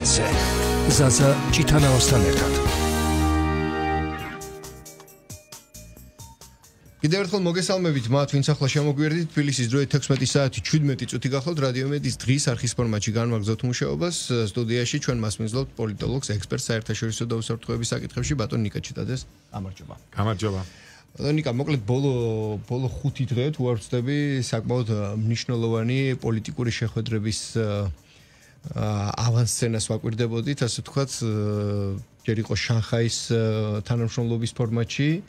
ზაზა ჭიტანავასთან ერთად. კიდევ ერთხელ მოგესალმებით მათ, ვინც ახლა შემოგვიერთდით. თბილისის დროით 16 საათი 17 წუთი გახლავთ რადიომედის დღის არხის ფორმატში განვაგრძობთ მუშაობას. სტუდიაში ჩვენ მასმინძლობთ პოლიტოლოგს, ექსპერტს საერთაშორისო და უსაფრთხოების საკითხებში ბატონ ნიკა ჩიტაძეს. გამარჯობა. გამარჯობა. ნიკა, მოკლედ ბოლო 5 დღე თუ არ ვწდები, საკმაოდ მნიშვნელოვანი პოლიტიკური შეხვედრების ავანსცენას ვაკვირდებოდით, ასე ვთქვათ, ჯერ იყო შანხაის თანამშრომლობის ფორმატში,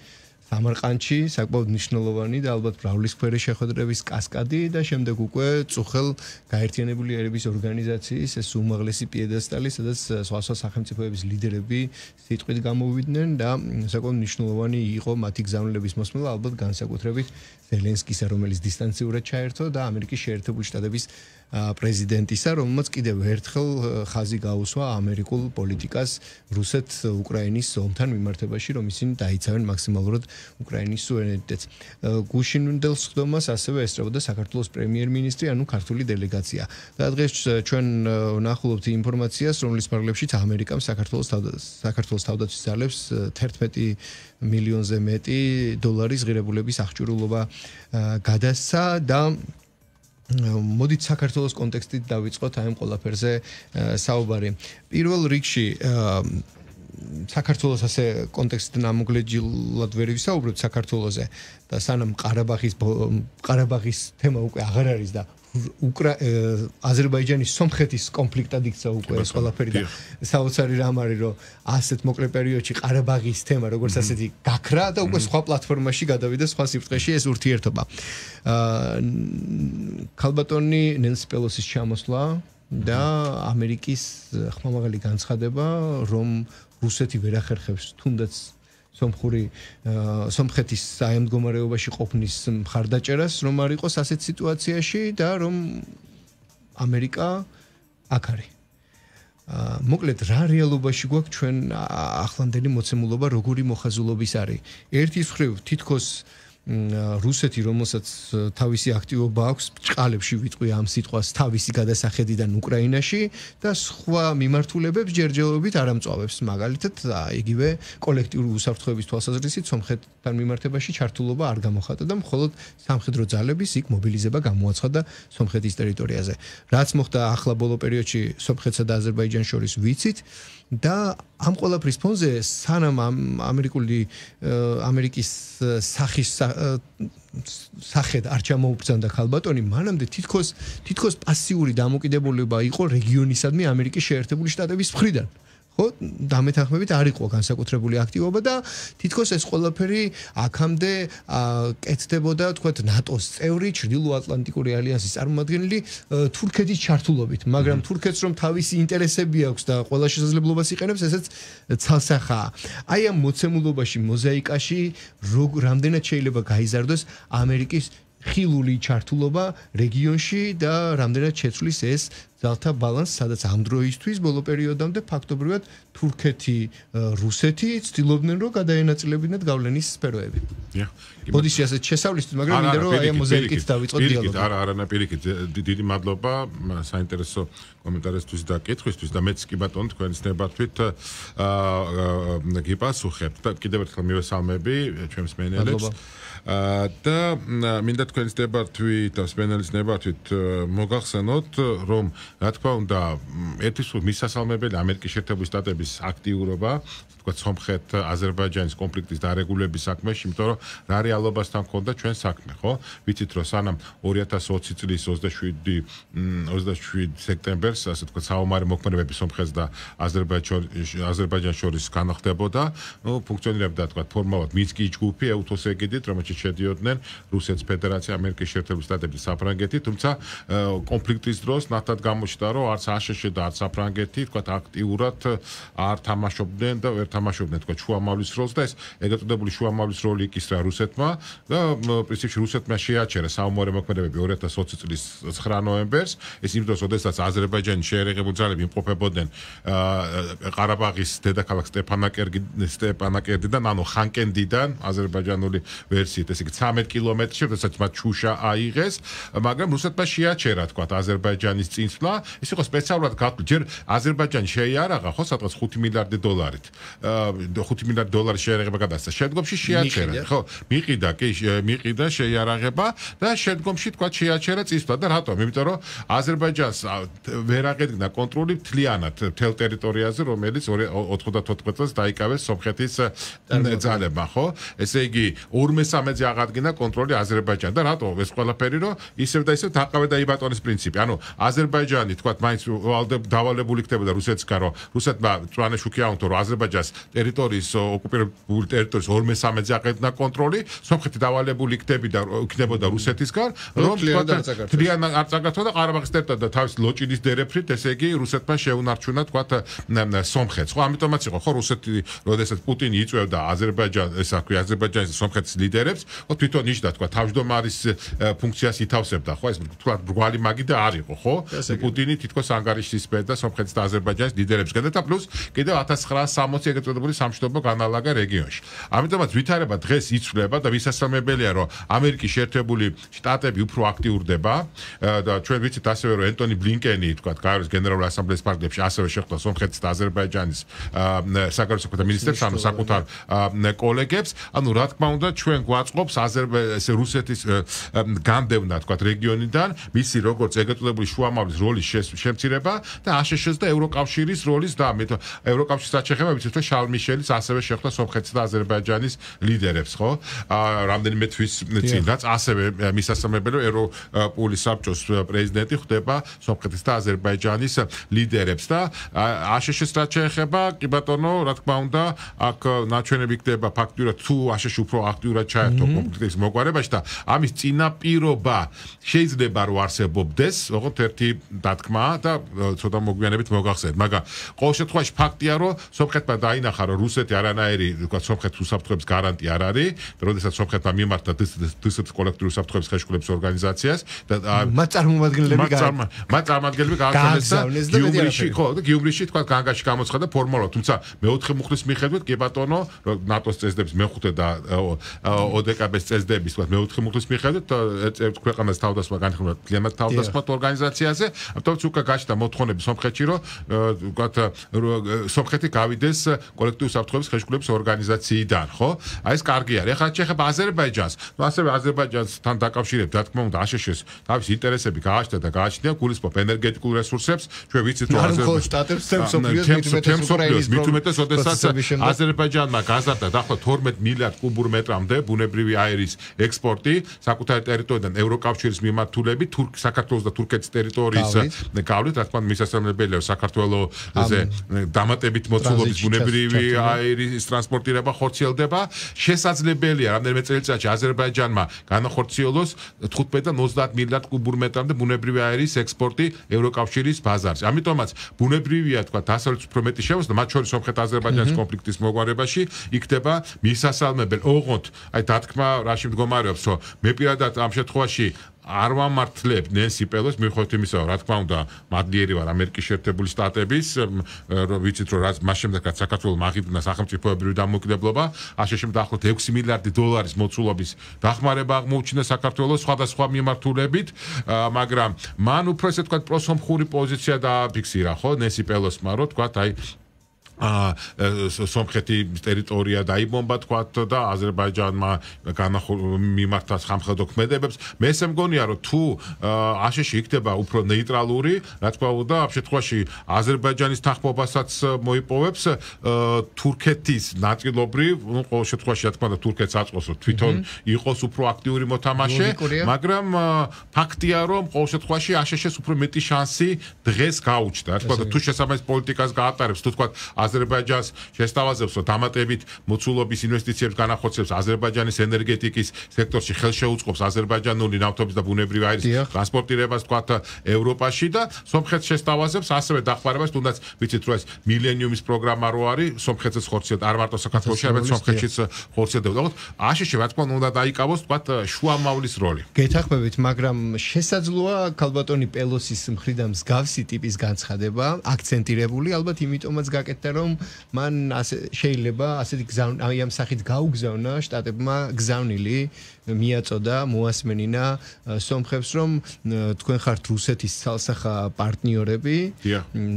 სამარყანდში, საკმაოდ მნიშვნელოვანი და ალბათ ბრავლისფერი შეხვედრების კასკადი და შემდეგ უკვე წუხელ გაერთიანებული ერების ორგანიზაციის ეს უმაღლესი პიედესტალი, სადაც სხვა სახელმწიფოების ლიდერები სიტყვით გამოვიდნენ და საკმაოდ მნიშვნელოვანი იყო მათი გზავნილების მოსმენა, ალბათ განსაკუთრებით ზელენსკისა, რომელიც დისტანციურად ჩაერთო და ამერიკის შეერთებული შტატების პრეზიდენტისა, რომელმაც კიდევ ერთხელ ხაზი გაუსვა ამერიკულ პოლიტიკას რუსეთ-უკრაინის ომთან მიმართებაში, რომ ისინი დაიცავენ მაქსიმალურად უკრაინის სუვერენიტეტს. გუშინდელ სხდომას ასევე ესწრებოდა საქართველოს პრემიერ-მინისტრი, ანუ ქართული დელეგაცია. და დღეს ჩვენ ვნახულობთ ინფორმაციას, რომლის ფარგლებშიც ამერიკამ საქართველოს თავდაცვის ძალებს 11 მილიონზე მეტი დოლარის ღირებულების აღჭურვილობა გადასცა და მოდით საქართველოს კონტექსტით დავიწყოთ აი ამ ყველაფერზე საუბარი. პირველ რიგში საქართველოს ასე კონტექსტით ნამოკლეჯილად ვერ ვისაუბროთ საქართველოზე და სანამ ყარაბაღის თემა უკვე აღარ არის და აზერბაიჯანის სომხეთის კონფლიქტად იქცა უკვე ეს ყველაფერი და საოცარი რამ არის რომ ასეთ მოკლე პერიოდში ყარაბაღის თემა როგორც ასეთი გაქრა და უკვე სხვა პლატფორმაში გადავიდა სხვა სიბრტყეში ეს ურთიერთობა. ქალბატონი ნენსი პელოსის ჩამოსვლა და ამერიკის ხმამაღალი განცხადება რომ რუსეთი ვერ ახერხებს თუნდაც სომხეთის აი ამ მდგომარეობაში ყოფნის მხარდაჭერას, რომ არ იყოს ასეთ სიტუაციაში და რომ ამერიკა აქ არის. მოკლედ რა რეალობაში გვაქვს ჩვენ ახლანდელი მოცემულობა როგორი მოხაზულობის არის? ერთის მხრივ თითქოს რუსეთი, რომელსაც თავისი აქტივობა აქვს, ბრჭყალებში ვიტყვი ამ სიტყვას თავისი გადასახედიდან უკრაინაში და სხვა მიმართულებებს ჯერჯერობით არ ამწვავებს. მაგალითად, იგივე კოლექტიური უსაფრთხოების თვალსაზრისით სომხეთთან მიმართებაში ჩართულობა არ გამოხატა და მხოლოდ სამხედრო ძალების იქ მობილიზება გამოაცხადა სომხეთის ტერიტორიაზე. რაც მოხდა ახლა ბოლო პერიოდში სომხეთსა და აზერბაიჯანს შორის ვიცით და ამ ყველაფრის ფონზე სანამ ამერიკის სახედ არ ჩამოუბრძანდა ქალბატონი, მანამდე თითქოს პასიური დამოკიდებულება იყო რეგიონისადმი ამერიკის შეერთებული შტატების მხრიდან. ხო, დამეთანხმებით არ იყო განსაკუთრებული აქტივობა და თითქოს ეს ყველაფერი აქამდე კეთდებოდა, თქვათ, ნატოს წევრი, ჩრდილოატლანტიკური ალიანსის წარმომადგენელი თურქეთის ჩართულობით, მაგრამ თურქეთს რომ თავისი ინტერესები აქვს და ყველა შესაძლებლობას იყენებს, ესეც ცალსახაა. აი ამ მოცემულობაში, მოზაიკაში რამდენად შეიძლება გაიზარდოს ამერიკის ხილული ჩართულობა რეგიონში და რამდენად შეცვლის ეს ძალთა ბალანსს, სადაც ამ დროისთვის ბოლო პერიოდამდე ფაქტობრივად თურქეთი, რუსეთი ცდილობდნენ რომ გადაენაწილებინათ გავლენის სფეროები. ბოდიში ასეთ შესავლისთვის, მაგრამ მინდა რომ აი ამ მოზაიკით დავიწყოთ დიალოგი. არა, პირიქით, დიდი მადლობა საინტერესო კომენტარისთვის და კითხვისთვის და მეც კი ბატონო თქვენის ნებართვით გიპასუხებთ და კიდევ ერთხელ მივესალმები ჩვენს მენელებს. და მინდა თქვენის ნებართვით და სპენელის ნებართვით მოგახსენოთ, რომ რა თქმა უნდა, ერთის მისასალმებელი ამერიკის შეერთებული შტატების აქტიურობა, თქვათ, სომხეთ-აზერბაიჯანის კონფლიქტის დარეგულების საქმეში, იმიტომ რომ რა რეალობასთან ჰქონდა ჩვენ საქმე, ხო? ვიცით, რომ სანამ 2020 წლის 27 სექტემბერს, ასე თქვათ, საომარი მოქმედებები სომხეთს და აზერბაიჯანს შორის განხდებოდა, ფუნქციონირებდა, თქვათ, ფორმალურად მინსკის ჯგუფი, ეუთოს ეგიდით, რომელშიც შედიოდნენ რუსეთის ფედერაცია, ამერიკის შეერთებული შტატები, საფრანგეთი, თუმცა კონფლიქტის დროს ნათლად გამოჩნდა, რომ არც აშშ და არც საფრანგეთი, თქვათ, აქტიურად არ თამაშობდნენ და ვერ თამაშობდნენ, თქვათ, შუამავლის როლს და ეს ეგრეთ წოდებული შუამავლის როლი იკისრა რუსეთმა და პრინციპში რუსეთმა შეაჩერა საომარი მოქმედებები 2020 წლის 9 ნოემბერს. ეს იმ დროს, როდესაც აზერბაიჯანის შეერაღებული ძალები იმყოფებოდნენ ყარაბაღის დედაქალაქ სტეპანაკერტიდან, ანუ ხანკენდიდან, აზერბაიჯანული ვერსიით, ესე იგი 13 კილომეტრში, როდესაც მათ შუშა აიღეს, მაგრამ რუსეთმა შეაჩერა, თქვათ, აზერბაიჯანის წინსვლა გასვლა ის იყო სპეციალურად გათვლილი ჯერ აზერბაიჯანი შეიარაღა ხო სადღაც 5 მილიარდი დოლარით 5 მილიარდი დოლარის შეიარაღება გადასცა შემდგომში შეაჩერა ხო მიყიდა შეიარაღება და შემდგომში თქვა შეაჩერა წისვლა და რატომ იმიტომ რომ აზერბაიჯანს ვერ აღედგნა კონტროლი მთლიანად მთელ ტერიტორიაზე რომელიც 94 წელს დაიკავეს სომხეთის ძალებმა ხო ესე იგი 2/3-ზე აღადგინა კონტროლი აზერბაიჯანს და რატო ეს ყველაფერი რომ ისევ და ისევ დაყავე და იბატონის პრინციპი ანუ აზერბაიჯანი თქვა მაინც დავალებული იქნებოდა რუსეთსგან რომ რუსეთმა წვანე შუქი აუნთო რომ აზერბაიჯანს ტერიტორიის ოკუპირებული ტერიტორიის 2/3-ზე აღედგნა კონტროლი სომხეთი დავალებული იქნებოდა რუსეთისგან რომ თლიან არ წაგართვა და ყარაბაღის ტერიტორია და თავის ლოჭინის დერეფრით ესე იგი რუსეთმა შეუნარჩუნა თქვა სომხეთს ხო ამიტომაც იყო ხო რუსეთი როდესაც პუტინი იწვევდა აზერბაიჯანის სომხეთის ლიდერებს ხო თვითონ ნიშნავდა თქვა თავმჯდომარის ფუნქციას ითავსებდა ხო ეს თქვა ბრგვალი მაგი და არ იყო ხო პუტინი თითქოს ანგარიშს ისმენდა სომხეთის და აზერბაიჯანის ლიდერებსგან და პლუს კიდევ 1960 ეგრეთ წოდებული სამშვიდობო განალაგა რეგიონში ამიტომაც ვითარება დღეს იცვლება და ვისასალმებელია რომ ამერიკის შეერთებული შტატები უფრო აქტიურდება და ჩვენ ვიცით ასევე რომ ენტონი ბლინკენი თქვა გაეროს გენერალური ასამბლეის პარლამენტში ასევე შეხვდა სომხეთის და აზერბაიჯანის საგარეო საქმეთა მინისტრებს ანუ საკუთარ კოლეგებს ანუ რა თქმა უნდა ჩვენ გვაწყობს რუსეთის განდევნა თქვა რეგიონიდან მისი როგორც ეგრეთ წოდებული შუამავლის როლის შემცირება და აშშ-ს და ევროკავშირის როლის და ევროკავშირის საჩეხება ვიცით რომ შარლ მიშელის ასევე შეხვდა სომხეთის და აზერბაიჯანის ლიდერებს ხო რამდენიმე თვის წინ რაც ასევე მისასალმებელი ევროპული საბჭოს პრეზიდენტი ხვდება სომხეთის და აზერბაიჯანის ლიდერებს და აშშ-ს რაც შეეხება კი ბატონო რა თქმა უნდა აქ ნაჩვენები იქნება ფაქტურად თუ აშშ უფრო აქტიურად ჩაერთო კონფლიქტის მოგვარებაში და ამის წინაპირობა შეიძლება რომ არსებობდეს ოღონდ ერთი დათქმა და ცოტა მოგვიანებით მოგახსენეთ მაგრამ ყოველ შემთხვევაში ფაქტია რომ სომხეთმა დაინახა რომ რუსეთი არანაირი თქვა სომხეთის უსაფრთხოების გარანტი არ არის და როდესაც სომხეთმა მიმართა დსთ კოლექტიური უსაფრთხოების ხელშეკრულების ორგანიზაციას და მათ წარმომადგენლები გააგზავნეს და გიუმრიში თქვა განგაში გამოცხადა ფორმალურად თუმცა მეოთხე მუხლის მიხედვით კი ბატონო ნატოს წესდების მეხუთე და ოდკბ-ს წესდების თქვა მეოთხე მუხლის მიხედვით ქვეყანას თავდასხმა განხილვა კლიმატ თავდასხმა ორგანიზაციაზე ამიტომ უკა გაჩნდა მოთხოვნები სომხეთში რომ თქვა სომხეთი გავიდეს კოლექტიური უსაფრთხოების ხელშეკრულების ორგანიზაციიდან ხო აი ეს კარგი არის ახლა შეეხება აზერბაიჯანს ნუ ასევე აზერბაიჯანსთან დაკავშირებით რა თქმა უნდა აშშ-ს თავის ინტერესები გააჩნდა და გააჩნია გულისხმობ ენერგეტიკულ რესურსებს ჩვენ ვიცით რომ აზერბაიჯანმა გაზარდა დაახლოებით 12 მილიარდ კუბურ მეტრამდე ბუნებრივი აირის ექსპორტი საკუთარი ტერიტორიიდან ევროკავშირის მიმართულებით საქართველოს და თურქეთის ტერიტორიის გავლით რა თქმა უნდა მისასალმებელია საქართველოზე დამატებით მოცულობის ბუნებრივი აირის ტრანსპორტირება ხორციელდება შესაძლებელია რამდენიმე წელიწადში აზერბაიჯანმა განახორციელოს 15 და 30 მილიარდ კუბურ მეტრამდე ბუნებრივი აირის ექსპორტი ევროკავშირის ბაზარზე ამიტომაც ბუნებრივია თქვა დასავლეთ უფრო მეტი შევასდა მათ შორის სომხეთ-აზერბაიჯანის კონფლიქტის მოგვარებაში იქნება მისასალმებელი ოღონდ აი დათქმა რაში მდგომარეობს რომ მე პირადად ამ შემთხვევაში არ ვამართლებ ნენსი პელოს მიუხედავად იმისა რა თქმა უნდა მადლიერი ვარ ამერიკის შეერთებული შტატების ვიცით რომ რაც მას შემდეგ რაც საქართველოს აღიდგინა სახელმწიფოებრივი დამოუკიდებლობა აშშ-მ დაახლოებით 6 მილიარდი დოლარის მოცულობის დახმარება აღმოუჩინა საქართველოს სხვადასხვა მიმართულებით მაგრამ მან უფრო ესე თქვა პროსომხური პოზიცია დააფიქსირა ხო ნენსი პელოსმა რომ თქვა აი სომხეთის ტერიტორია დაიბომბა თქვათ და აზერბაიჯანმა მიმართა სამხედრო ქმედებებს მე ესე მგონია რომ თუ აშშ-ი იქნება უფრო ნეიტრალური რა თქმა უნდა ამ შემთხვევაში აზერბაიჯანის თანხმობასაც მოიპოვებს თურქეთის ნაწილობრივ ну ყოველ შემთხვევაში რა თქმა უნდა თურქეთს აწყოს თვითონ იყოს უფრო აქტიური მოთამაშე მაგრამ ფაქტია რომ ყოველ შემთხვევაში აშშ-ს უფრო მეტი შანსი დღეს გაუჩნდა რა თქმა უნდა თუ შესაბამის პოლიტიკას გაატარებს თუ თქვათ აზერბაიჯანს შესთავაზებს რომ დამატებით მოცულობის ინვესტიციებს განახორციელებს აზერბაიჯანის ენერგეტიკის სექტორში ხელშეუწყობს აზერბაიჯანული ნავთობის და ბუნებრივი აირის ტრანსპორტირებას თქვათ ევროპაში და სომხეთს შესთავაზებს ასევე დახმარებას თუნდაც ვიცით რომ ეს მილენიუმის პროგრამა რო არის სომხეთს ხორციელდება არ მარტო საქართველოში არამედ სომხეთშიც ხორციელდება თქო აშშ-ი რა თქმა უნდა დაიკავოს თქვათ შუამავლის როლი გეთახმებით მაგრამ შესაძლოა ქალბატონი პელოსის მხრიდან მსგავსი ტიპის განცხადება აქცენტირებული ალბათ იმიტომაც გაკეთდა რომ მან შეიძლება ასეთი აი ამ სახით გაუგზავნა შტატებმა გზავნილი მიაწოდა მოასმენინა სომხებს რომ თქვენ ხართ რუსეთის ცალსახა პარტნიორები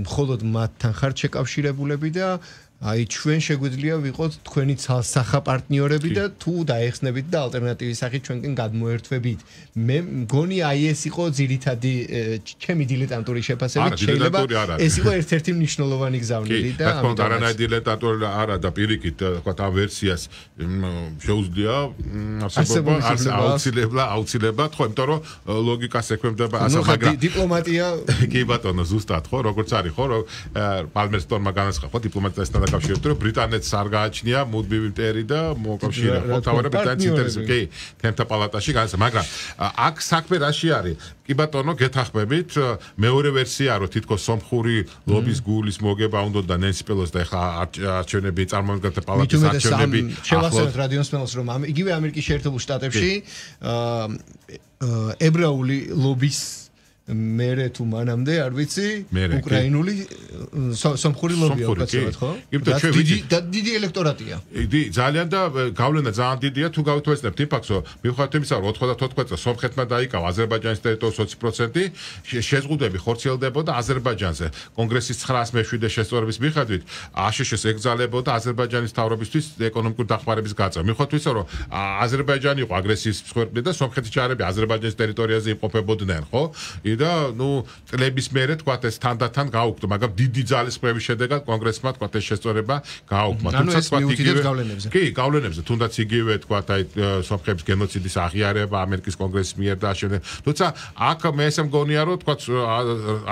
მხოლოდ მათთან ხართ შეკავშირებულები და აი ჩვენ შეგვიძლია ვიყოთ თქვენი ცალსახა პარტნიორები და თუ დაეხსნებით და ალტერნატივის სახით ჩვენკენ გადმოერთვებით. მე მგონი აი ეს იყო ძირითადი ჩემი დილეტანტური შეფასებით შეიძლება ეს იყო ერთ-ერთი მნიშვნელოვანი გზავნილი და თქო არანაირი დილეტანტური არა და პირიქით თქვა ამ ვერსიას შეუძლია აუცილებლად ხო იმიტომ რომ ლოგიკას ექვემდებარა ასე მაგრამ დიპლომატია კი ბატონო ზუსტად ხო როგორც არის ხო რომ პალმერსტონმა განაცხადა ხო დიპლომატიასთან კავშირით რომ ბრიტანეთს არ გააჩნია მუდმივი მტერი და მოკავშირე ხო თავარი ბრიტანეთის ინტერესები კი თემთა პალატაში განაცხადა მაგრამ აქ საქმე რაში არის კი ბატონო გეთახმებით მეორე ვერსია რომ თითქოს სომხური ლობის გულის მოგება უნდა და ნენსი პელოსი და ეხლა არჩევნები წარმომადგენელთა პალატის არჩევნები შევახსენოთ რადიოსმენელს რომ იგივე ამერიკის შეერთებულ შტატებში ებრაული ლობის მერე თუ მანამდე არ ვიცი უკრაინული სომხური ლობია უკაცრავად ხო? დიდი ელექტორატია. ძალიან და გავლენა ძალიან დიდია თუ გავთვალისწინებთ იმ ფაქტს რომ მიუხედავად იმისა რომ 94 წელს სომხეთმა დაიკავა აზერბაიჯანის ტერიტორიის 20% შეზღუდვები ხორციელდებოდა აზერბაიჯანზე კონგრესის 907 შესწორების მიხედვით აშშ-ს ეკრძალებოდა აზერბაიჯანის მთავრობისთვის ეკონომიკური დახმარების გაწევა. მიუხედავად იმისა რომ აზერბაიჯანი იყო აგრესიის მსხვერპლი და სომხეთის ჯარები აზერბაიჯანის ტერიტორიაზე იმყოფებოდნენ ხო? და ნუ წლების მერე თქვა ეს თანდათან გაუქმდა მაგრამ დიდი ძალისხმევის შედეგად კონგრესმა თქვა ეს შესწორება გაუქმდა თუმცა თქვა იგივე კი გავლენებზე თუნდაც იგივე თქვა აი სომხების გენოციდის აღიარება ამერიკის კონგრესის მიერ და ასე თუმცა აქ მე ესე მგონია რომ თქვა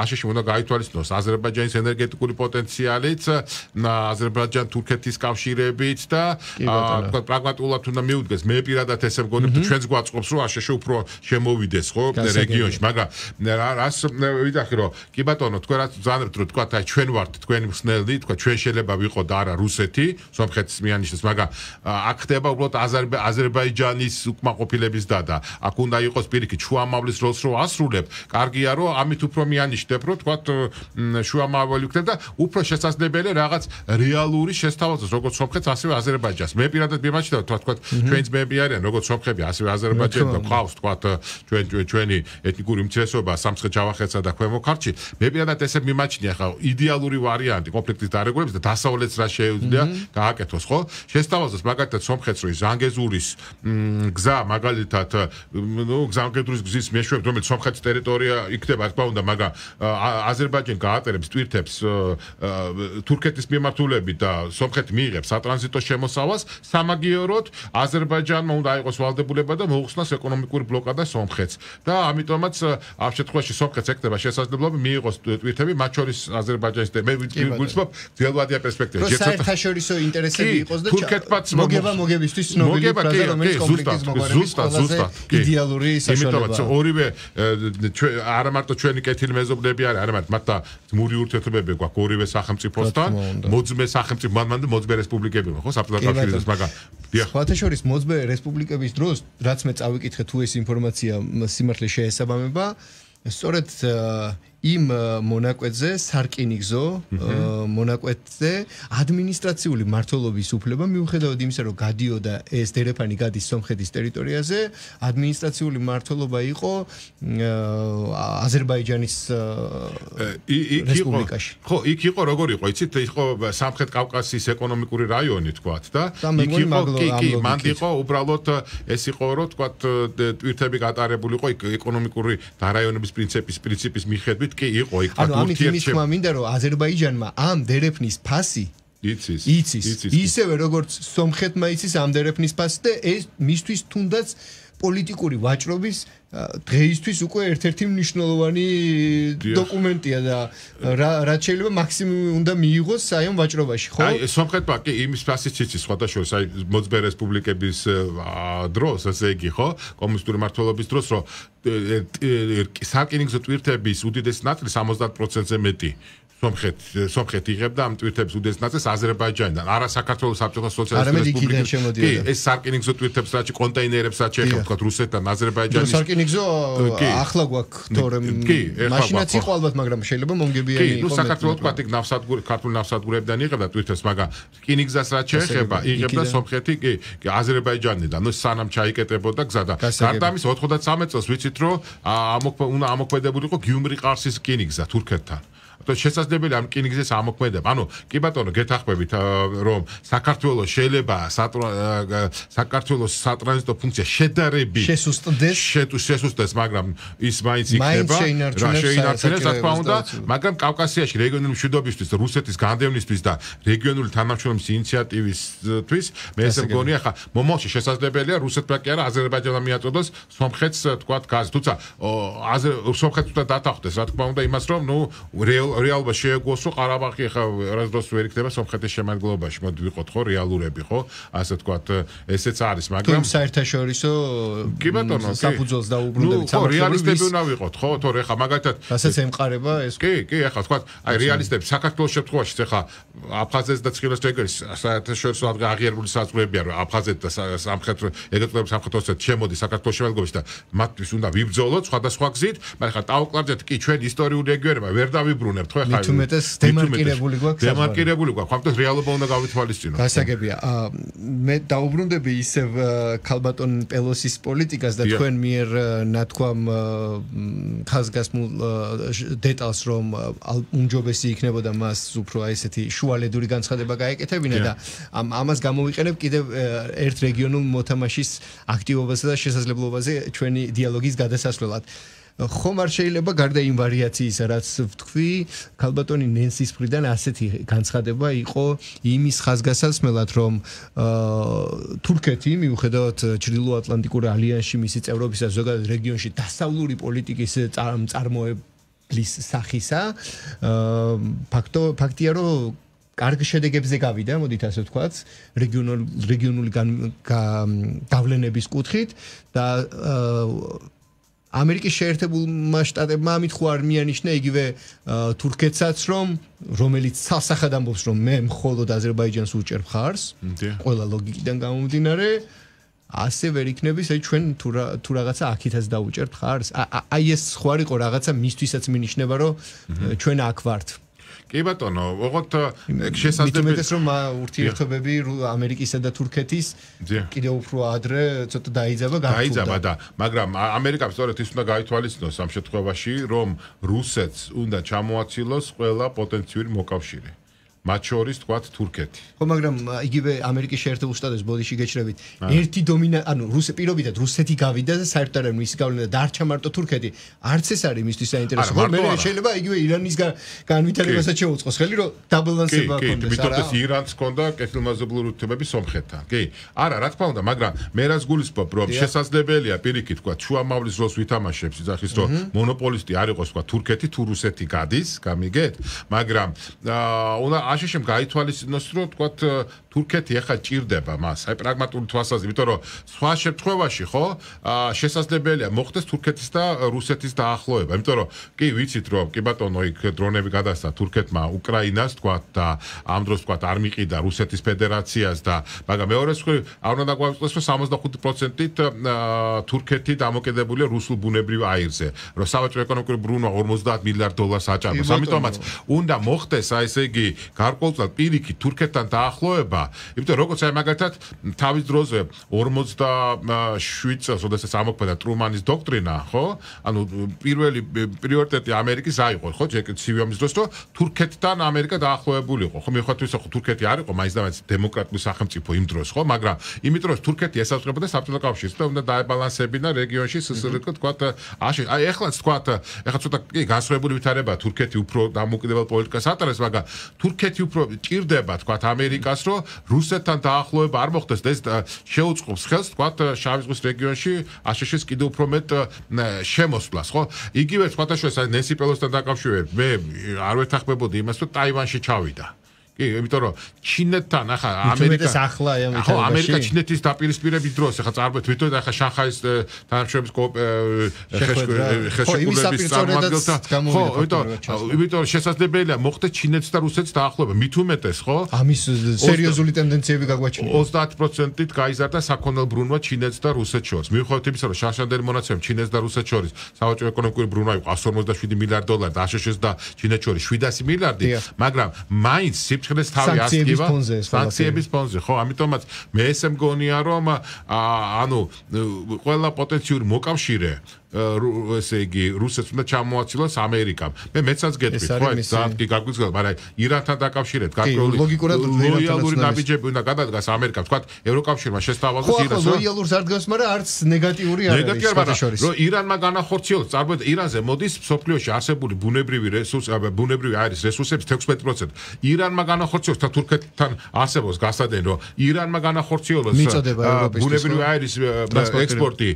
აშშ-ში უნდა გაითვალისწინოს აზერბაიჯანის ენერგეტიკული პოტენციალით აზერბაიჯან-თურქეთის კავშირებით და თქვა პრაგმატულად უნდა მიუდგეს მე პირადად ესე მგონი ჩვენს გვაწყობს რომ აშშ უფრო შემოვიდეს ხო რეგიონში მაგრამ რას ვიდახი რომ კი ბატონო თქვენ რაც ზანებთ რომ თქვა აი ჩვენ ვართ თქვენი მსნელი თქვა ჩვენ შეიძლება ვიყოთ არა რუსეთი სომხეთის მიანიშნებს მაგრამ აქ ხდება უბრალოდ აზერბაიჯანის უკმაყოფილების დადა აქ უნდა იყოს პირიქით შუამავლის როლს რო ასრულებ კარგია რომ ამით უფრო მიანიშნებ რომ თქვა შუამავალი ვქნებ და უფრო შესაძლებელია რაღაც რეალური შესთავაზოს როგორც სომხეთს ასევე აზერბაიჯანს მე პირადად მიმაჩნია თქვა ჩვენს მეები არიან როგორც სომხები ასევე აზერბაიჯანი და ყავს თქვა ჩვენი ეთნიკური უმცირესობა სამცხე ჯავახეთსა და ქვემო ქართლში მე პირადად ესე მიმაჩნია ხა იდეალური ვარიანტი კონფლიქტის დარეგულების და დასავლეთს რა შეუძლია გააკეთოს ხო შესთავაზოს მაგალითად სომხეთს რო ზანგეზურის გზა მაგალითად ნუ ზანგეზურის გზის მეშვეობით რომელიც სომხეთის ტერიტორია იქნება თქმა უნდა მაგრამ აზერბაიჯანი გაატარებს ტვირთებს თურქეთის მიმართულებით და სომხეთი მიიღებს სატრანზიტო შემოსავალს სამაგიეროდ აზერბაიჯანმა უნდა აიღოს ვალდებულება და მოუხსნას ეკონომიკური ბლოკადა სომხეთს და ამიტომაც ამ შემთხვევაში სომხეთს ეკნება შესაძლებლობა მიიღოს ტვირთები მათ შორის აზერბაიჯანის და მე ვგულისხმობ ძველვადია პერსპექტივა საერთაშორისო ინტერესები იყოს და მოგებისთვის ცნობილი ფრაზა რომელიც კონფლიქტის მოგვარების იდეალური საშუალებაა ორივე არა მარტო ჩვენი კეთილი მეზობლები არის არამედ მათ და ძმური ურთიერთობები გვაქვს ორივე სახელმწიფოსთან მოძმე სახელმწიფო მანამდე მოძმე რესპუბლიკები ხო საბჭოთა კავშირის მაგრამ სხვათა შორის მოძმე რესპუბლიკების დროს რაც მე წავიკითხე თუ ეს ინფორმაცია სიმართლე შეესაბამება სწორედ იმ მონაკვეთზე სარკინიგზო მონაკვეთზე ადმინისტრაციული მმართველობის უფლება მიუხედავად იმისა რომ გადიოდა ეს დერეფანი გადის სომხეთის ტერიტორიაზე ადმინისტრაციული მმართველობა იყო აზერბაიჯანის რესპუბლიკაში ხო იქ იყო როგორ იყო იცით იყო სამხრეთ კავკასიის ეკონომიკური რაიონი თქვათ და იქ იყო მანდ იყო უბრალოდ ეს იყო რომ თქვათ ტვირთები გატარებული იყო ეკონომიკური დარაიონების პრინციპის მიხედვით კი იყო იქ ანუ ამით იმის თქმა მინდა რომ აზერბაიჯანმა ამ დერეფნის ფასი იცის ისევე როგორც სომხეთმა იცის ამ დერეფნის ფასი და ეს მისთვის თუნდაც პოლიტიკური ვაჭრობის დღეისთვის უკვე ერთ-ერთი მნიშვნელოვანი დოკუმენტია და რაც შეიძლება მაქსიმუმი უნდა მიიღოს აი ამ ვაჭრობაში ხო? აი სომხეთმა კი იმის ფასიც იცის სხვადასხვა აი მოძმე რესპუბლიკების დროს ასე იგი ხო? კომუნისტური მმართველობის დროს რომ სარკინიგზო ტვირთების უდიდესი ნაწილი 70%-ზე მეტი სომხეთი იღებდა ამ ტვირთების უდიდეს ნაწილს აზერბაიჯანიდან, არა საქართველოს საბჭოთა სოციალისტური რესპუბლიკის. კი, ეს სარკინიგზო ტვირთებს რაც კონტეინერებს რაც შეეხება თქვა რუსეთთან აზერბაიჯანის. სარკინიგზო ახლა გვაქვს თორემ მაშინაც იყო ალბათ, მაგრამ შეიძლება მომგებიანი იყო. კი, საქართველოს თქვა იქ ქართულ ნავსადგურებიდან იღებდა ტვირთებს, მაგრამ რკინიგზას რაც შეეხება იღებდა სომხეთი, კი, აზერბაიჯანიდან. ნუ სანამ ჩაიკეტებოდა გზა და გარდა ამის 93 წელს ვიცით რომ უნდა ამოქმედებულიყო გიუმრი ყარსის რკინიგზა თურქეთთან. შესაძლებელია ამ რკინიგზის ამოქმედება. ანუ კი ბატონო, გეთახმებით რომ საქართველოს შეიძლება საქართველოს სატრანზიტო ფუნქცია შედარებით შესუსტდეს, მაგრამ ის მაინც იქნება შეინარჩუნებს, რა თქმა უნდა, მაგრამ კავკასიაში რეგიონული მშვიდობისთვის, რუსეთის განდევნისთვის და რეგიონული თანამშრომლობის ინიციატივისთვის მე ესე მგონია, ხა მომავალში შესაძლებელია რუსეთმა კი არა აზერბაიჯანმა მიაწოდოს სომხეთს თქვათ გაზი. თუმცა სომხეთს უნდა დათანხმდეს, რა თქმა უნდა, იმას რომ ნუ რეალობა შეეგუოს, რომ ყარაბაღი ხა რასდროს ვერ იქნება სომხეთის შემადგენლობაში. მოდი ვიყოთ ხო რეალურები, ხო? ასე თქვათ, ესეც არის, მაგრამ საერთაშორისო კი ბატონო, საფუძველს დაუბრუნდებით ხო, რეალისტები უნდა ვიყოთ, ხო? თორე ხა მაგალითად რასაც ემყარება ეს. კი, ახლა თქვათ, აი რეალისტები საქართველოს შემთხვევაში ხა აფხაზეთს და ცხილოს რეგიონის საერთაშორისო აღიარებული საზღვრებია, რომ აფხაზეთი და სამხრეთ ეგრეთლების სამხრეთ ოსეთი შემოდის საქართველოს შემადგენლობაში და მათთვის უნდა ვიბრძოლოთ სხვადასხვა გზით, მაგრამ ხა ტაუკლარჯეთ კი ჩვენ ისტორიული რეგიონებია ვერ დავიბრუნებთ, ხო? მithumetes დემარკირებული გვაქვს. დემარკირებული გვაქვს. ხომ რეალობა უნდა გავითვალისწინოთ. გასაგებია. მე დაუბრუნდები ისევ ქალბატონ პელოსის პოლიტიკას და თქვენ მიერ ნათქვამ ხაზგასმულ დეტალს, რომ უმჯობესი იქნებოდა მას უფრო აი ესეთი შუალედური განცხადება გაეკეთებინა და ამას გამოვიყენებ კიდევ ერთ რეგიონულ მოთამაშის აქტივობასა და შესაძლებლობაზე ჩვენი დიალოგის გადასასვლელად. ხომ არ შეიძლება გარდა იმ ვარიაციისა, რაც ვთქვი, ქალბატონი ნენსის მხრიდან ასეთი განცხადება იყო იმის ხაზგასასმელად, რომ თურქეთი მიუხედავად ჩრდილოატლანტიკურ ალიანსში მისი წევრობისა ზოგადად რეგიონში დასავლური პოლიტიკის წარმოებლის სახისა, ფაქტია, რომ კარგ შედეგებზე გავიდა, მოდით ასე ვთქვათ, რეგიონული გავლენების კუთხით და ამერიკის შეერთებულმა შტატებმა ამით ხო არ მიანიშნა იგივე თურქეთსაც, რომელიც სასახად ამბობს, რომ მე მხოლოდ აზერბაიჯანს უჭერ მხარს, ყველა ლოგიკიდან გამომდინარე, ასე ვერ იქნების, აი ჩვენ თუ რაღაცა აქითაც დაუჭერთ მხარს. აი ეს ხო არ იყო რაღაცა მისთვისაც მინიშნება, რომ ჩვენ აქ ვართ. კი ბატონო, ოღონდ შესაძლებელია რომ ურთიერთობები ამერიკისა და თურქეთის კიდევ უფრო ადრე ცოტა დაიძაბა და მაგრამ ამერიკამ სწორედ ის უნდა გაითვალისწინოს ამ შემთხვევაში, რომ რუსეთს უნდა ჩამოაცილოს ყველა პოტენციური მოკავშირე. მათ შორის თქვათ თურქეთი. ხო, მაგრამ იგივე ამერიკის შეერთებულ შტატებს ბოდიში გეჩრებით. ერთი პირობითად რუსეთი გავიდა და საერთოდ არ მისი გავლენა დარჩა მარტო თურქეთი. არც ეს არის მისთვის საინტერესო. მე შეიძლება იგივე ირანის განვითარებასაც შეუწყოს ხელი, რომ დაბალანსება კონდეს. კი, მithomდეს ირანს ჰქონდა კეთილმაზობლური ურთიერთობები სომხეთთან. კი. არა, რა თქმა უნდა, მაგრამ მე რას გულისხმობ, რომ შესაძლებელია პირიქით თქვათ შუამავლის როლს ვითამაშებს, იძახის რომ მონოპოლისტი არ იყოს თქვათ თურქეთი თუ რუსეთი გადის, გამიგეთ? მაგრამ უნდა აშშ გაითვალისწინოს, რომ თქვათ თურქეთი ახლა ჭირდება მას, აი პრაგმატული თვალსაზრისით, იმიტომ რომ სხვა შემთხვევაში ხო შესაძლებელია მოხდეს თურქეთის და რუსეთის დაახლოება, იმიტომ რომ კი ვიცით რომ კი ბატონო იქ დრონები გადასცა თურქეთმა უკრაინას თქვათ და ამ დროს თქვათ არ მიყიდა რუსეთის ფედერაციას და მაგრამ მეორე მხრივ არ უნდა დაგვაწყდეს რომ 75%-ით თურქეთი დამოკიდებულია რუსულ ბუნებრივ აირზე, რომ საბჭოთა ეკონომიკური ბრუნვა 50 მილიარდ დოლარს აჭარბებს, ამიტომაც უნდა მოხდეს აი ესე იგი გარკვეულწილად პირიქით თურქეთთან დაახლოება, იმიტომ როგორც აი მაგალითად თავის დროზე 47 წელს, როდესაც ამოქმედა ტრუმანის დოქტრინა, ხო? ანუ პირველი პრიორიტეტი ამერიკის აიღო, ხო? ცივი ომის დროს, რომ თურქეთთან ამერიკა დაახლოებული იყო. ხო, მიუხედავად იმისა, ხო თურქეთი არ იყო მაინც და მაინც დემოკრატიული სახელმწიფო იმ დროს, ხო? მაგრამ იმიტომ რომ თურქეთი ესაზღვრებოდა საბჭოთა კავშირს და უნდა დაებალანსებინა რეგიონში სსრკ თქვათ, აი ეხლაც თქვათ, ეხლა ცოტა კი განსხვავებული ვითარება თურქეთი უფრო დამოუკიდებელ პოლიტიკას ატარებს, მაგრამ თურქეთი უფრო ჭირდება თქვათ ამერიკას, რომ რუსეთთან დაახლოება არ მოხდეს და ეს შეუწყობს ხელს თქვათ შავი ზღვის რეგიონში აშშ-ის კიდევ უფრო მეტ შემოსვლას, ხო? იგივე სხვადასხვა ნენსი პელოსთან დაკავშირებით მე არ ვეთანხმებოდი იმას, რომ ტაივანში ჩავიდა. კი, იმიტომ რომ ჩინეთთან ახლა ამერიკა ჩინეთის დაპირისპირების დროს ახლა წარმოიდგინეთ თვითონ ახლა შანხაის თანამშრომლობის ხელშეკრულების წარმომადგენელთა იმიტომ რომ შესაძლებელია მოხდეს ჩინეთს და რუსეთს დაახლოება მით უმეტეს ხო ამის სერიოზული ტენდენციები გაგვაჩნია 30%-ით გაიზარდა საქონელ ბრუნვა ჩინეთს და რუსეთს შორის მიუხედავად იმისა რომ შარშანდელი მონაცემ ჩინეთს და რუსეთს შორის სავაჭრო ეკონომიკური ბრუნვა იყო 157 მილიარდ დოლარი და აშშ-ს და ჩინეთს შორის 700 მილიარდი მაგრამ მაინც სიფრთხილეს თავი ასკივა სანქციების ფონზე ხო ამიტომაც მე ესე მგონია რომ ანუ ყველა პოტენციური მოკავშირე ესე იგი რუსეთს უნდა ჩამოაცილოს ამერიკამ. მე მეცაც გეტყვით, ხო, ძალიან კი გაგვიძღება, მაგრამ ირანთან დაკავშირებით გარკვეული ლოიალური ნაბიჯები უნდა გადადგას ამერიკამ. თქვა ევროკავშირმა შესთავაზოს ირანს. ხო, ლოიალურს არ დგას, მაგრამ არც ნეგატიური არ არის შორის. რომ ირანმა განახორციელოს, წარმოიდგინეთ, ირანზე მოდის სოფლიოში არსებული ბუნებრივი აირის რესურსების 16%. ირანმა განახორციელოს და თურქეთთან არსებობს გასადენ, რომ ირანმა განახორციელოს ბუნებრივი აირის ექსპორტი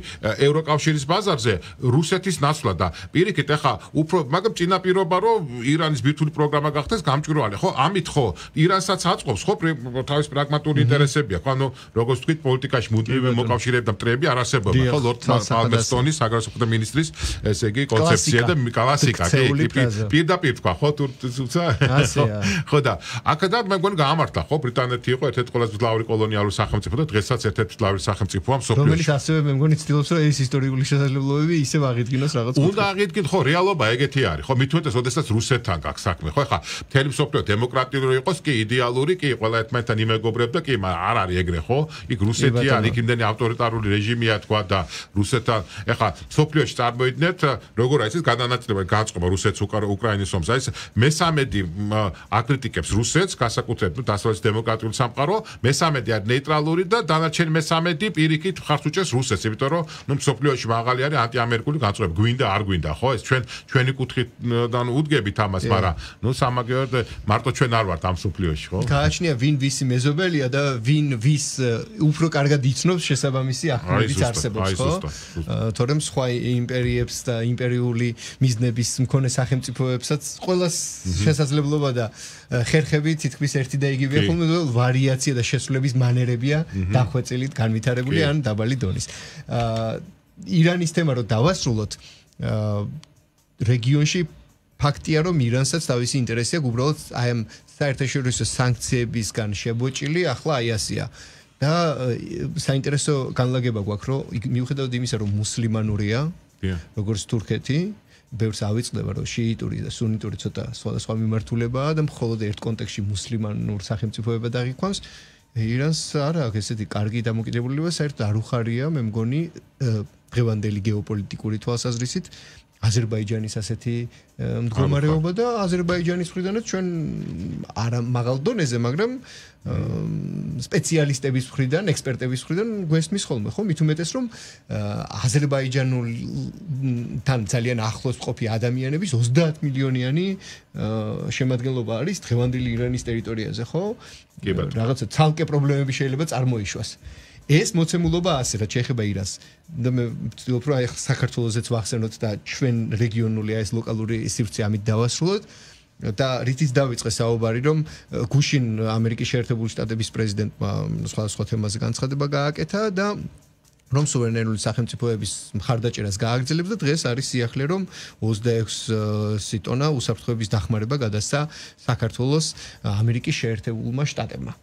ევროკავშირის ბაზარზე რუსეთის ნაცვლად და პირიქით ახლა უფრო მაგრამ წინაპირობა რომ ირანის ბირთვული პროგრამა გახდეს გამჭვირვალე ხო ამით ხო ირანსაც აწყობს ხო თავის პრაგმატული ინტერესებია ხო ანუ როგორც ვთქვით პოლიტიკაში მუდმივი მოკავშირეები და მტრები არ არსებობა ხო ლორდ პალმერსტონის საგარეო მინისტრის ესე იგი კონცეფცია და კლასიკა პირდაპირ თქვა ხო თუმცა ხო და აქედან მე მგონი გაამართლა ხო ბრიტანეთი იყო ერთ-ერთი ყველაზე მძლავრი კოლონიალური სახელმწიფო და დღესაც ერთ-ერთი მძლავრი სახელმწიფოა მსოფლიოში რომელიც ასევე მე მგონი ცდილობს რომ ეს ისტორიული შესაძლებლობები ისევ აღიდგინოს რაღაც უნდა აღიდგინოთ ხო რეალობა ეგეთი არის ხო მით უმეტეს ოდესაც რუსეთთან გაქვს საქმე ხო ხა მთელი მსოფლიო დემოკრატიული იყოს კი იდეალური კი ყველა ერთმანეთთან იმეგობრებდა კი არ არის ეგრე ხო იქ რუსეთი არის იქ იმდენი ავტორიტარული რეჟიმია თქვა და რუსეთთან ეხა მსოფლიოში წარმოიდგინეთ როგორ არის ეს გადანაწილება განწყობა რუსეთს უკრაინის ომს არის მესამედი აკრიტიკებს რუსეთს განსაკუთრებით დასავლეთის დემოკრატიული სამყარო მესამედი არის ნეიტრალური და დანარჩენი მესამედი პირიქით ხარც უჭერს რუსეთს იმიტომ რომ ნუ მსოფლიოში მაღალი არის ანტიამერიკული განწყობა გვინდა არ გვინდა ხო ეს ჩვენი კუთხიდან უდგებით ამას მაგრამ ნუ სამაგიეროდ მარტო ჩვენ არ ვართ ამ მსოფლიოში ხო გააჩნია ვინ ვისი მეზობელია და ვინ ვის უფრო კარგად იცნობს შესაბამისი ახალგაზრდების არსებობს ხო თორემ სხვა იმპერიებს და იმპერიული მიზნების მქონე სახელმწიფოებსაც ყოველას შესაძლებლობა და ხერხები თითქმის ერთი და იგივეა ხოლმე ვარიაცია და შესრულების მანერებია დახვეწილი განვითარებული ან დაბალი დონის ირანის თემა რო დავასრულოთ რეგიონში ფაქტია რომ ირანსაც თავისი ინტერესი აქვს უბრალოდ აი ამ საერთაშორისო სანქციებისგან შებოჭილი ახლა აი ასია და საინტერესო განლაგება გვაქვს რომ მიუხედავად იმისა რომ მუსლიმანურია როგორც თურქეთი ბევრს ავიწყდება რომ შიიტური და სუნიტური ცოტა სხვადასხვა მიმართულებაა და მხოლოდ ერთ კონტექსტში მუსლიმანურ სახელმწიფოებად აღიქვამს ირანს არ აქვს ესეთი კარგი დამოკიდებულება საერთოდ არ უხარია მე მგონი დღევანდელი გეოპოლიტიკური თვალსაზრისით აზერბაიჯანის ასეთი მდგომარეობა და აზერბაიჯანის მხრიდანაც ჩვენ არა მაღალ დონეზე მაგრამ სპეციალისტების მხრიდან ექსპერტების მხრიდან გვესმის ხოლმე ხო მით უმეტეს რომ აზერბაიჯანულთან ძალიან ახლოს მყოფი ადამიანების 30 მილიონიანი შემადგენლობა არის დღევანდელი ირანის ტერიტორიაზე ხო რაღაცა ცალკე პრობლემები შეიძლება წარმოიშვას ეს მოცემულობა ასე რაც შეეხება ირანს და მე ვცდილობ რომ აი საქართველოსაც ვახსენოთ და ჩვენ რეგიონული აი ეს ლოკალური სივრცე ამით დავასრულოთ და რითიც დავიწყე საუბარი რომ გუშინ ამერიკის შეერთებული შტატების პრეზიდენტმა სხვადასხვა თემაზე განცხადება გააკეთა და რომ სუვერენული სახელმწიფოების მხარდაჭერას გააგრძელებს და დღეს არის სიახლე რომ 26 ტონა უსაფრთხოების დახმარება გადასცა საქართველოს ამერიკის შეერთებულმა შტატებმა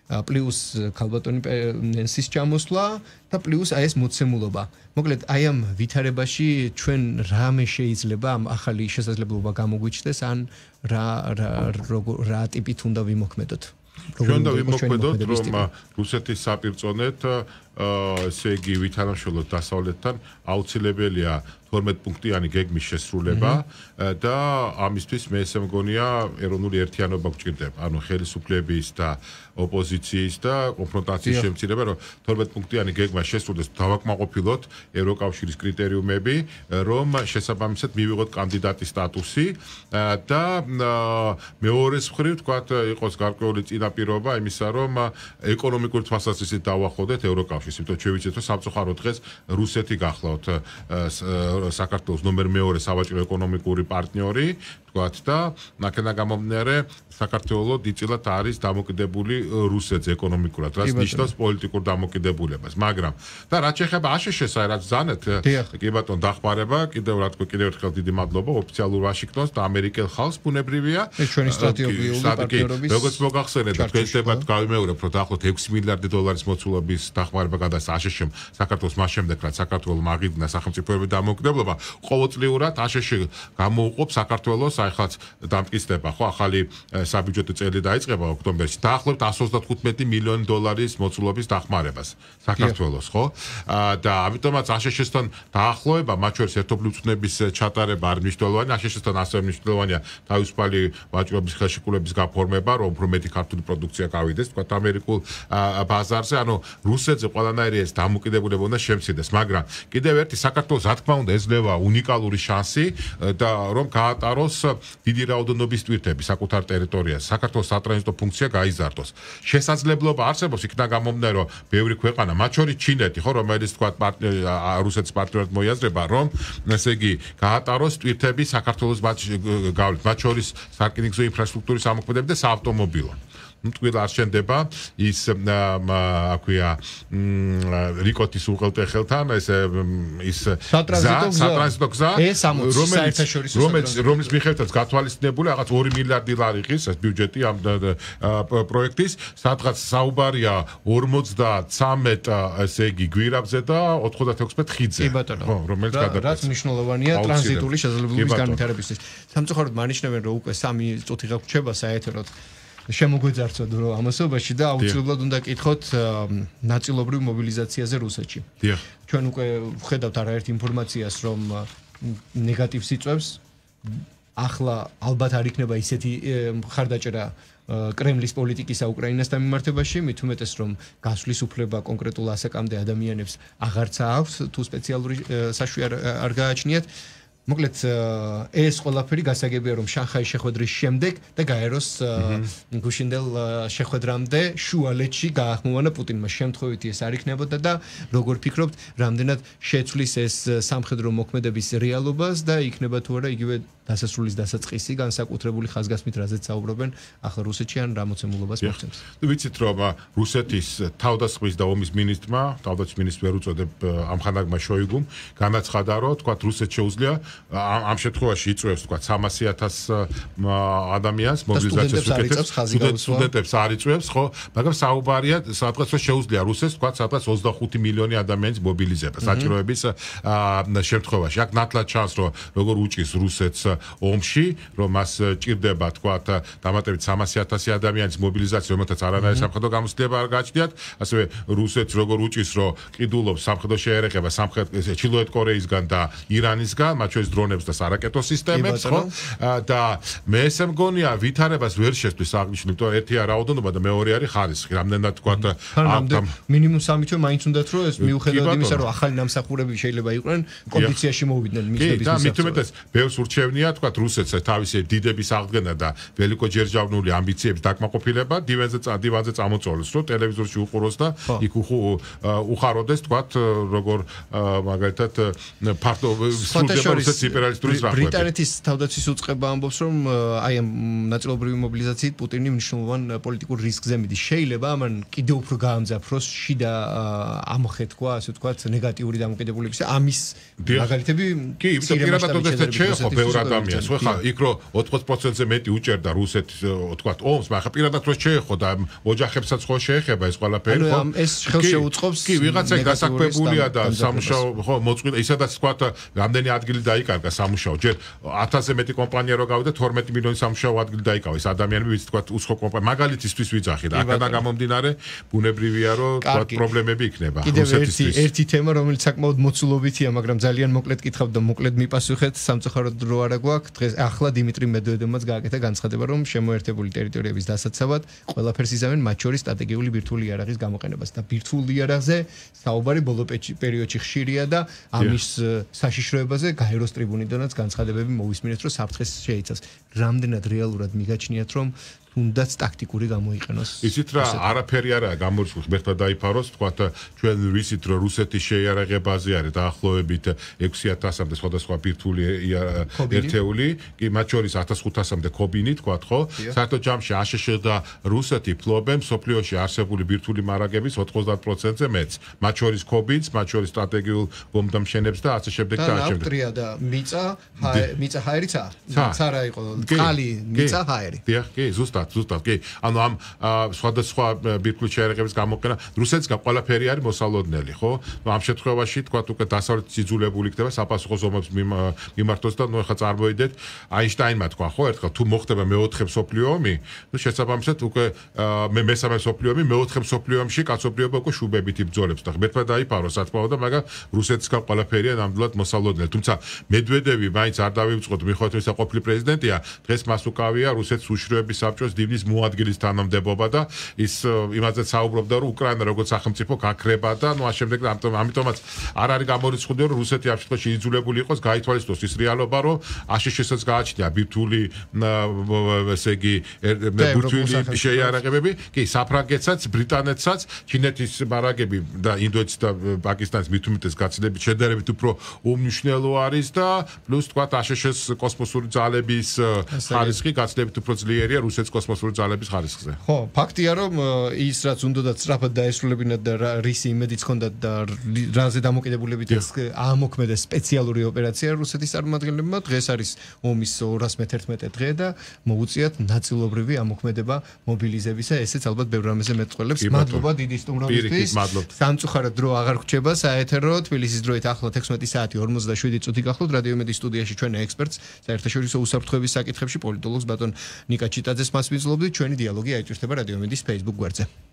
პლუს ქალბატონი ნენსის ჩამოსვლა და პლუს აი ეს მოცემულობა. მოკლედ აი ამ ვითარებაში ჩვენ რამე შეიძლება ამ ახალი შესაძლებლობა გამოგვიჩნდეს ან რა ტიპით უნდა ვიმოქმედოთ. ჩვენ უნდა ვიმოქმედოთ რომ რუსეთის საპირწონეთ ესე იგი ვითანამშრომლოთ დასავლეთთან აუცილებელია 12 პუნქტიანი გეგმის შესრულება და ამისთვის მე ესე მგონია ეროვნული ერთიანობა გვჭირდება. ანუ ხელისუფლების და ოპოზიციის და კონფრონტაციის შემცირება, რომ 12 პუნქტიანი გეგმა შესრულდეს, დავაკმაყოფილოთ ევროკავშირის კრიტერიუმები, რომ შესაბამისად მივიღოთ კანდიდატის სტატუსი და მეორეს მხრივ თქვათ იყოს გარკვეული წინაპირობა იმისა, რომ ეკონომიკური თვალსაზრისით დავახოდეთ ევროკავშირს, იმიტომ ჩვენ ვიცით, რომ სამწუხაროდ დღეს რუსეთი გახლავთ საქართველოს ნომერ მეორე სავაჭრო ეკონომიკური პარტნიორი თქვათ და ნაკენა გამომდინარე საქართველოს დიდწილად არის დამოკიდებული რუსეთს ეკონომიკურად, რაც ნიშნავს პოლიტიკურ დამოკიდებულებას, მაგრამ და რაც შეეხება აშშ-ს, რაც ზანეთ, კი ბატონო, დახმარება, კიდევ ერთხელ დიდი მადლობა ოფიციალურ ვაშინგტონს და ამერიკელ ხალხს ბუნებრივია. ეს ჩვენი სტრატეგიული პარტნიორობის როგორც მოგახსენეთ, თქვენ დებათ გავიმეორებ, რომ დაახლოებით 6 მილიარდი დოლარის მოცულობის დახმარება გადასცა აშშ-მ საქართველოს მას შემდეგ, რაც საქართველოს მაგიდნა სახელმწიფოების დამოუკიდებლობა, ყოველწლიურად აშშ გამოუყოფ საქართველოს ახალ დამტკიცდება, ხო, ახალი საბიუჯეტო წელი დაიწყება ოქტომბერში. დაახლოებით 135 მილიონი დოლარის მოცულობის დახმარებას საქართველოს, ხო? და ამიტომაც აშშ-სთან დაახლოება, მათ შორის ერთობლივ წვნების ჩატარება არ მნიშვნელოვანია, აშშ-სთან ასევე მნიშვნელოვანია თავისუფალი ვაჭრობის ხელშეკრულების გაფორმება, რომ უფრო მეტი ქართული პროდუქცია გავიდეს, თქვა ამერიკულ ბაზარზე, ანუ რუსეთზე ყველანაირი ეს დამოკიდებულება უნდა შემცირდეს, მაგრამ კიდევ ერთი საქართველოს რა თქმა უნდა ეძლევა უნიკალური შანსი და რომ გაატაროს დიდი რაოდენობის ტვირთები საკუთარ ტერიტორიაზე, საქართველოს სატრანზიტო ფუნქცია გაიზარდოს. შესაძლებლობა არსებობს იქიდან გამომდინარე, რომ ბევრი ქვეყანა, მათ შორის ჩინეთი, ხო, რომელიც თქვა რუსეთის პარტნიორად მოიაზრება, რომ ესე იგი გაატაროს ტვირთები საქართველოს გავლით, მათ შორის სარკინიგზო ინფრასტრუქტურის ამოქმედება და საავტომობილო. თქვილ არ შენდება ის აქვია რიკოტის უღელტეხელთან ის სატრანზიტო გზა რომელიც მიხედვითაც გათვალისწინებული რაღაც 2 მილიარდი ლარი ყის ეს ბიუჯეტი ამ პროექტის სადღაც საუბარია 53 ესე იგი გვირაბზე და 96 ხიდზე ხო რომელიც გადაკვეთს რაც მნიშვნელოვანია ტრანზიტული შესაძლებლობის განვითარებისთვის სამწუხაროდ მანიშნებენ რომ უკვე 3 წუთი გაგვრჩება საეთეროდ შემოგვეძარცვათ რომ ამასობაში და აუცილებლად უნდა კითხოთ ნაწილობრივ მობილიზაციაზე რუსეთში. ჩვენ უკვე ვხედავთ არაერთ ინფორმაციას რომ ნეგატივს იწვევს. ახლა ალბათ არ იქნება ისეთი მხარდაჭერა კრემლის პოლიტიკისა უკრაინასთან მიმართებაში, მით უმეტეს რომ გასვლის უფლება კონკრეტულ ასაკამდე ადამიანებს აღარც აქვს, თუ სპეციალური საშვი არ გააჩნიათ. მოკლედ ეს ყველაფერი გასაგებია რომ შანხაის შეხვედრის შემდეგ და გაეროს გუშინდელ შეხვედრამდე შუალედში გაახმოვანა პუტინმა შემთხვევითი ეს არ იქნებოდა და როგორ ფიქრობთ რამდენად შეცვლის ეს სამხედრო მოქმედების რეალობას და იქნება თუ არა იგივე დასასრულის დასაწყისი განსაკუთრებული ხაზგასმით რაზეც საუბრობენ ახლა რუსეთში ან რა მოცემულობას მოხსენს. ვიცით რომ რუსეთის თავდასხმის და ომის მინისტრმა, თავდაცვის მინისტრს ვერ უწოდებ ამხანაგმა შოიგუმ, განაცხადა რომ თქვა რუსეთს შეუძლია ამ შემთხვევაში იწვევს თქვა 300,000 ადამიანს მობილიზაციის უკეთეს სტუდენტებს არ იწვევს, ხო, მაგრამ საუბარია სადღაც რომ შეუძლია რუსეთს თქვა სადღაც 25 მილიონი ადამიანის მობილიზება საჭიროების შემთხვევაში. აქ ნათლად ჩანს რომ როგორ უჭის რუსეთს ომში, რომ მას ჭირდება თქვა დამატებით 300,000 ადამიანის მობილიზაცია, რომელთაც არანაირი სამხედრო გამოცდილება არ გააჩნიათ, ასევე რუსეთს როგორ უჭის რომ ყიდულობს სამხედრო შეერეხება ჩრდილოეთ კორეისგან და ირანისგან, მათ შორის დრონებს და სარაკეტო სისტემებს, ხო? და მე ესე მგონია ვითარებას ვერ შეცვლის აღნიშნული, იმიტომ ერთია რაოდენობა და მეორე არის ხარისხი. რამდენად თქვა მინიმუმ 3 თვე მაინც უნდათ რომ ეს მიუხედავად იმისა, რომ ახალი ნამსახურები შეიძლება იყვნენ კონდიციაში მოვიდნენ მისდების და მით უმეტეს ბევრს ურჩევნია თქვა რუსეთს თავისი დიდების აღდგენა და ველიკოჯერჯავნული ამბიციების დაკმაყოფილება დივანზე წამოწოლოს, რომ ტელევიზორში უყუროს და იქ უხაროდეს თქვა როგორ მაგალითად ფართო რუსეთის იმპერიალისტური ზრახვები. ბრიტანეთის თავდაცვის უწყება ამბობს რომ აი ამ ნაწილობრივი მობილიზაციით პუტინი მნიშვნელოვან პოლიტიკურ რისკზე მიდის. შეიძლება ამან კიდევ უფრო გაამძაფროს შიდა ამოხეთქვა, ასე ვთქვათ, ნეგატიური დამოკიდებულების ამის მაგალითები კი, პირადად შეეხო ბევრ ადამიანს, ხო ხა, იქ რო 80%-ზე მეტი უჭერდა რუსეთის, ვთქვათ, ომს, მაგრამ პირადად რო შეეხო და ოჯახებსაც ხო შეეხება ეს ყველაფერი, ხო? ეს ხელს შეუწყობს. კი, ვიღაცა გასაკვირველია და სამუშაო, ხო, მოწყვილა, ისედაც ვთქვათ, რამდენი ადგილი დაიკარგა სამუშაო. ჯერ 1000-ზე მეტი კომპანია რო გავიდა, 12 მილიონი სამუშაო ადგილი დაიკავა. ეს ადამიანები, ვიც ვთქვათ, უცხო კომპანია, მაგალითისთვის ვიძახი და აქედან გამომდინარე, ბუნებრივია, რომ ვთქვათ, პრობლემები იქნება. კიდევ ერთი თემა, რომელიც საკმაოდ მოცულობითია, მაგრამ ძალიან მოკლედ კითხავ და მოკლედ მიპასუხეთ, სამწუხაროდ რო არა გვაქვს. დღეს ახლა დიმიტრი მედვედევმაც გააკეთა განცხადება, რომ შემოერთებული ტერიტორიების დასაცავად ყველაფერს იზამენ, მათ შორის სტრატეგიული ბირთვული იარაღის გამოყენებას და ბირთვული იარაღზე საუბარი ბოლო პერიოდში ხშირია და ამის საშიშროებაზე გაეროს ტრიბუნიდანაც განცხადებები მოვისმინეთ, რომ საფრთხეს შეიცავს. რამდენად რეალურად მიგაჩნიათ, რომ თუნდაც ტაქტიკური გამოიყენოს. ისიც რა არაფერი არაა გამორიცხული ღმერთმა დაიფაროს, თქვათ ჩვენ ვიცით რომ რუსეთის შეიარაღებაზე არის დაახლოებით 6000-მდე სხვადასხვა ბირთვული ერთეული, კი მათ შორის 1500-მდე ქობინი თქვათ, ხო? საერთო ჯამში აშშ და რუსეთი ფლობენ სოფლიოში არსებული ბირთვული მარაგების 90%-ზე მეც. მათ შორის ქობინს, მათ შორის სტრატეგიულ გომდამშენებს და ასე შემდეგ და ასე შემდეგ. და ნავტრია და მიწა ჰაერიცა? ცარა იყო წყალი, მიწა ჰაერი. დიახ, კი, ზუსტად, კი. ანუ ამ სხვადასხვა ბირთვული შეიარაღების გამოყენა რუსეთსგან ყველაფერი არის მოსალოდნელი, ხო? ამ შემთხვევაში თქვათ უკვე დასავლეთ სიძულებული იქნება საპასუხო ზომებს მიმართოს და ნუ ახლა წარმოიდეთ აინშტაინმა თქვა, ხო, ერთხელ თუ მოხდება მეოთხე მსოფლიო ომი, ნუ შესაბამისად უკვე მესამე მსოფლიო ომი, მეოთხე მსოფლიო ომში კაცობრიობა უკვე შუბებით იბრძოლებს და ღმერთმა დაიფაროს სათქმაო და მაგრამ რუსეთსგან ყველაფერია ნამდვილად მოსალოდნელი. თუმცა მედვედევი მაინც არ დავივიწყოთ მიხედვით ისა ყოფილი პრეზიდენტია, დღეს მას უკავია რუსეთის უშროების საბჭოს დივნის მოადგილის თანამდებობა და ის იმაზე საუბრობდა რომ უკრაინა როგორც სახელმწიფო გაქრება და ნუ ამ შემდეგ ამიტომაც არ არის გამორიცხული რომ რუსეთი ამ შემთხვევაში იძულებული იყოს გაითვალისწინოს ის რეალობა რომ აშშ-ს გააჩნია ბირთვული ესე იგი ბირთვული შეიარაღებები, კი საფრანგეთსაც, ბრიტანეთსაც, ჩინეთის მარაგები და ინდოეთის და პაკისტანის მithumites გაცილებით შედარებით უფრო უმნიშვნელო არის და პლუს თქვა აშშ-ს კოსმოსური ძალების ხარისხი გაცილებით უფრო ძლიერია რუსეთის კოსმოსური ძალების ხარისხზე. ხო, ფაქტია რომ ის რაც უნდათ სწრაფად დაესრულებინათ და რისი იმედიც ჰქონდათ და რაზე დამოკიდებულებით აამოქმედეს სპეციალური ოპერაცია რუსეთის წარმომადგენლებმა, დღეს არის ომის 211 დღე და მოუწიათ ნაწილობრივი ამოქმედება მობილიზებისა, ესეც ალბათ ბევრ რამეზე მეტყველებს. მადლობა დიდი სტუმრობისთვის. სამწუხაროდ დრო აღარ გვჭება საეთერო, თბილისის დროით ახლა 16 საათი 47 წუთი გახლავთ რადიო იმედის სტუდიაში ჩვენ ექსპერტს საერთაშორისო უსაფრთხოების საკითხებში პოლიტოლოგს ბატონ ნიკა ჩიტაძეს მასვიძლებთ. ჩვენი დიალოგი აიჭირდება რადიო იმედის Facebook გვერდზე.